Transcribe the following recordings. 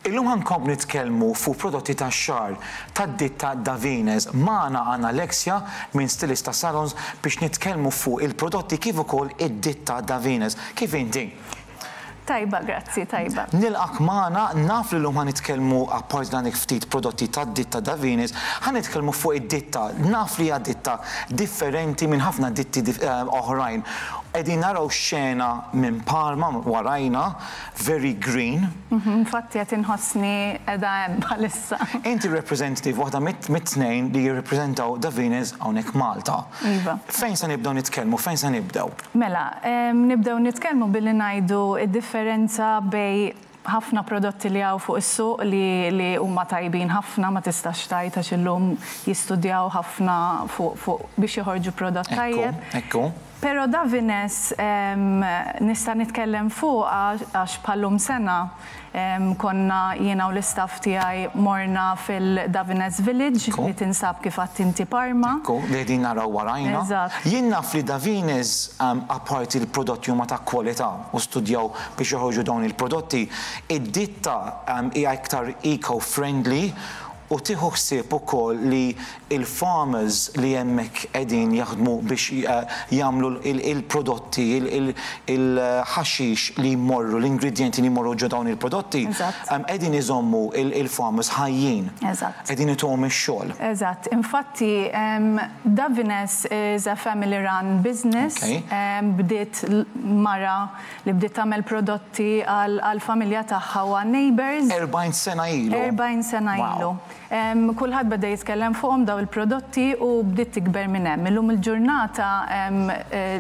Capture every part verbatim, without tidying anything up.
Illum ħa nkomplu nitkellmu fuq prodotti tax-xagħar tad-ditta Davines. Magħna għandna Alexia minn Stilista Salons biex nitkellmu fuq il-prodotti kif ukoll id-ditta Davines. Kif inti? Tajba, grazzi, tajba. Nilqgħek magħna, naf li llum ħa nitkellmu, apart dan ftit prodotti tad-ditta Davines, ħa nitkellmu fuq id-ditta. Naf li hija ditta differenti minn ħafna ditti eh, oħrajn. Qegħdin naraw xena minn Parma warajna, very green. Mhm, infatti qed inħossni qiegħda hemm bħalissa. Inti representative, waħda mit-tnejn li jirrepreżentaw Davines hawnhekk Malta. Iva. Fejn se nibdew nitkellmu? Fejn se nibdew? Mela, nibdew nitkellmu billi ngħidu id-differenza bejn ħafna prodotti li hawn fuq is-suq li, li huma tajbin ħafna, ma tistax tgħid, għax illum jistudjaw ħafna fuq fu, biex joħorġu prodott tajjeb. Ekku. Pero Davines nista' nitkellem fuq għax bħal-lum sena konna jiena u l-istaff tiegħi morna fil-Davines Village li tinsab, kif inti, Parma. Ekku, li qegħdin naraw warajna. Jien naf li Davines, apparti il-prodotti huma ta' kwalità u studjaw biex joħorġu dawn il-prodotti, id-ditta hija iktar eco-friendly u tieħu ħsieb ukoll li il-farmers li hemmhekk qegħdin jaħdmu biex eh, jagħmlu il-prodotti, il-ħaxix li jmorru, l-ingredienti li jmorru ġo dawn il-prodotti, qegħdin iżommu il-farmers ħajjin. Qegħdin ituhom ix-xogħol. Eżatt. Infatti, Davines is a family run business. Bdiet mara li bdiet tagħmel prodotti għal-familja tagħha u għal-neighbors. erbgħin sena ilu. erbgħin sena ilu. Kulħadd beda jitkellem fuqhom daw il-prodotti u bdiet tikber minn hemm. Illum il-ġurnata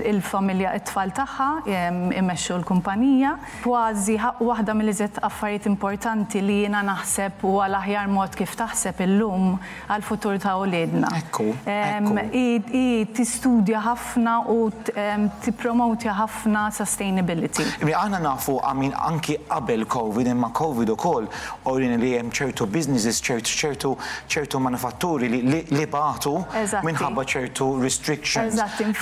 il-familja, it-tfal tagħha imexxu l-kumpanija. Kważi waħda mill-iżjed affarijiet importanti li jiena naħseb u għal aħjar mod kif taħseb illum għal-futur ta' uliedna. Ekku, I tistudja ħafna u tippromotja ħafna sustainability. Aħna nafu għamin anki qabel Covid, imma Covid ukoll uriena li hemm ċertu businesses, ċertu ċertu ċertu manifatturi li, li, li batu minħabba ċertu restrictions.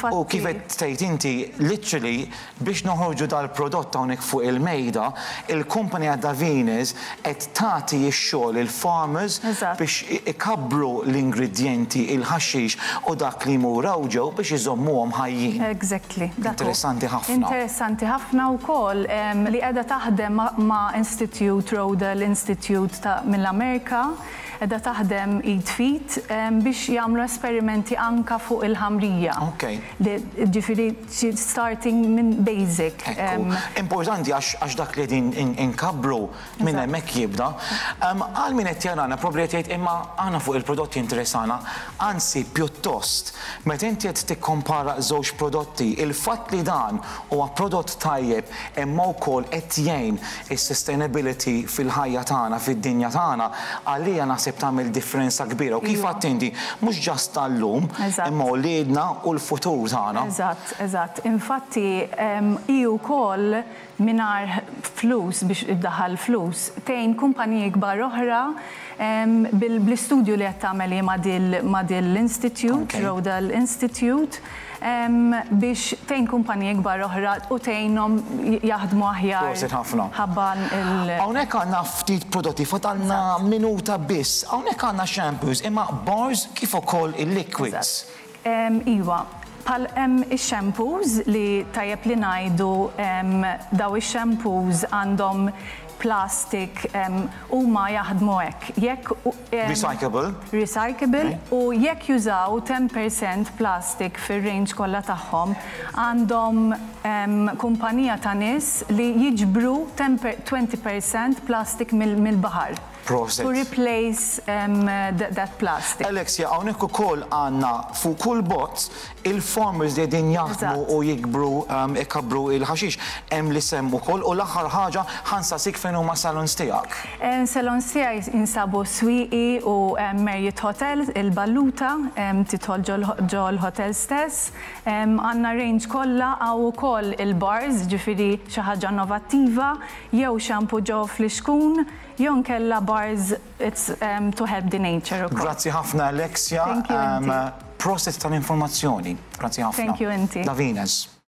U kif qed tgħid inti, literally biex noħorġu dal-prodott hawnhekk fuq il-mejda, il-kumpanija Davines qed tagħti x-xogħol il-farmers biex ikabbru l-ingredienti, il-ħaxix u dak li jmur ġew biex iżommuhom ħajjin. Exactly. Interessanti ħafna. Interessanti ħafna wkoll li qiegħda taħdem ma' Institute, Rodale Institute ta' mill-Amerika, qiegħda taħdem id f'id biex jagħmlu esperimenti anka fuq il-ħamrija. Ok. Ġifieri starting minn basic. Importanti għax dak li din inkabbru minn hemmhekk jibda. Għal min qed jarana probabli qed jgħid, "Imma aħna fuq il-prodotti interessana," anzi pjuttost meta inti qed tikkompara żewġ prodotti, il-fatt li dan huwa prodott tajjeb imma wkoll qed jgħin is-sustainability fil-ħajja tagħna, fid-dinja tagħna, għalija naħseb tagħmel differenza kbira. U kif għedt inti, mhux just tal-lum, imma uliedna u l-futur tagħna. Eżatt, eżatt. Infatti, hi wkoll mingħajr flus biex iddaħħal flus, tgħin kumpaniji kbar oħra bil-istudju li qed tagħmel ma' dil l-Institute, Rodale Institute, biex tgħin kumpaniji kbar oħra u tgħinhom jaħdmu aħjar. Prosit ħafna. Ħabban il- Hawnhekk għandna ftit prodotti, fadalna minuta biss. Hawnhekk għandna shampoos, imma bars kif ukoll il-liquids. Iva, pal hemm ix-shampoos li tajjeb li ngħidu, daw ix-shampoos għandhom plastic, huma jaħdmu hekk. Jekk Recyclable. Recyclable, u jekk jużaw ten percent plastic fir-range kollha tagħhom, għandhom kumpanija ta' nies li jiġbru twenty percent plastic mill-baħar. Prosit. To replace um, that, that plastic. Alexia, hawnhekk ukoll għandna fuq kull bot il-farmers li qegħdin jaħdmu u jikbru, um, ikabbru il-ħaxix, hemm l-isem ukoll, u l-aħħar ħaġa ħa nsaqsik fejn huma salons tiegħek. Salons tiegħi jinsabu Swieqi u Marriott Hotel, il-Balluta, tidħol ġol hotel stess. Għandna range kollha, hawn ukoll il-bars, ġifieri xi ħaġa innovattiva, jew shampoo ġo flixkun, jew nkella bars, it's um, to help the nature. Grazzi ħafna, Alexia. Thank you. Um, prosit tal-informazzjoni. Grazzi ħafna. Thank you inti. Davines.